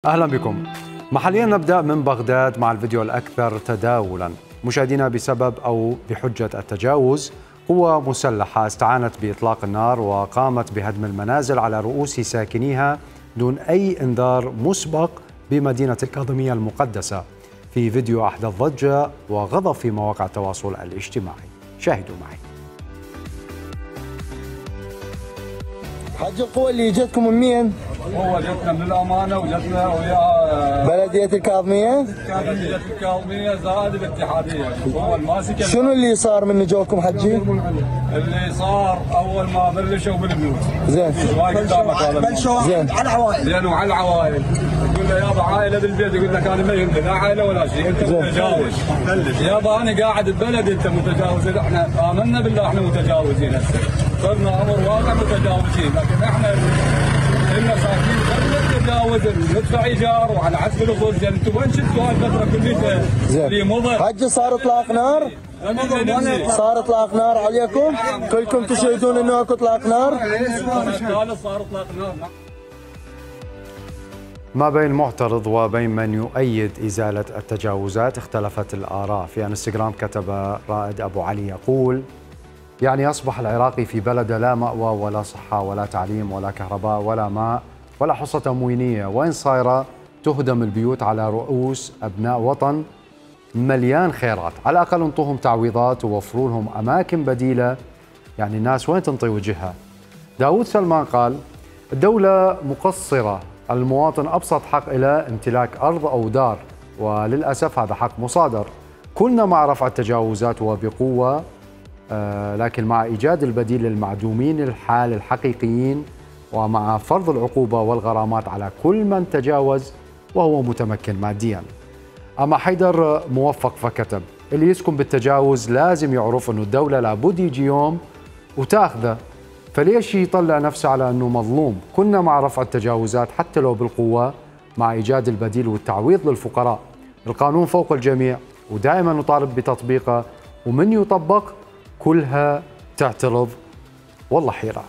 أهلا بكم. محليا نبدأ من بغداد مع الفيديو الأكثر تداولا. مشاهدينا، بسبب أو بحجة التجاوز، قوى مسلحة استعانت بإطلاق النار وقامت بهدم المنازل على رؤوس ساكنيها دون أي إنذار مسبق بمدينة الكاظمية المقدسة. في فيديو أحدث ضجة وغضب في مواقع التواصل الاجتماعي. شاهدوا معي. حج القوى اللي جتكم من مين؟ هو جتنا من الامانه وجتنا ويا بلديه الكاظميه؟ بلديه الكاظميه زائد الاتحاديه. هو الماسك. شنو اللي صار من جوكم حجي؟ اللي صار اول ما بلشوا بالبيوت. زين. شوي قدامك هذا. زين. على العوائل. لانه على العوائل. يقول له يابا عائله بالبيت، يقول لك انا ما يهمني لا عائله ولا شيء، انت متجاوز. يابا انا قاعد ببلد انت متجاوز، احنا امنا بالله احنا متجاوزين هسه. صرنا امر واقع متجاوزين، لكن احنا المساكين خلينا نتجاوز ندفع ايجار وعلى حسب الاصول. زين انتم وين شفتوا هالفتره كلها اللي مضت؟ حجي صار اطلاق نار؟ صار اطلاق نار عليكم؟ كلكم تشهدون انه اكو اطلاق نار؟ صار اطلاق نار. ما بين معترض وبين من يؤيد إزالة التجاوزات اختلفت الآراء. في انستغرام كتب رائد أبو علي يقول: يعني أصبح العراقي في بلده لا مأوى ولا صحة ولا تعليم ولا كهرباء ولا ماء ولا حصة تموينية، وين صايرة تهدم البيوت على رؤوس أبناء وطن مليان خيرات. على الأقل انطوهم تعويضات ووفروا لهم أماكن بديلة. يعني الناس وين تنطي وجهها؟ داود سلمان قال: الدولة مقصرة، المواطن أبسط حق إلى امتلاك أرض أو دار، وللأسف هذا حق مصادر. كلنا مع رفع التجاوزات وبقوة، لكن مع إيجاد البديل للمعدومين الحال الحقيقيين، ومع فرض العقوبة والغرامات على كل من تجاوز وهو متمكن ماديا. أما حيدر موفق فكتب: اللي يسكن بالتجاوز لازم يعرف أنه الدولة لابد يجي يوم وتاخذه، فليش يطلع نفسه على أنه مظلوم؟ كنا مع رفع التجاوزات حتى لو بالقوة، مع إيجاد البديل والتعويض للفقراء. القانون فوق الجميع ودائما نطالب بتطبيقه، ومن يطبق كلها تعترض. والله حيرة.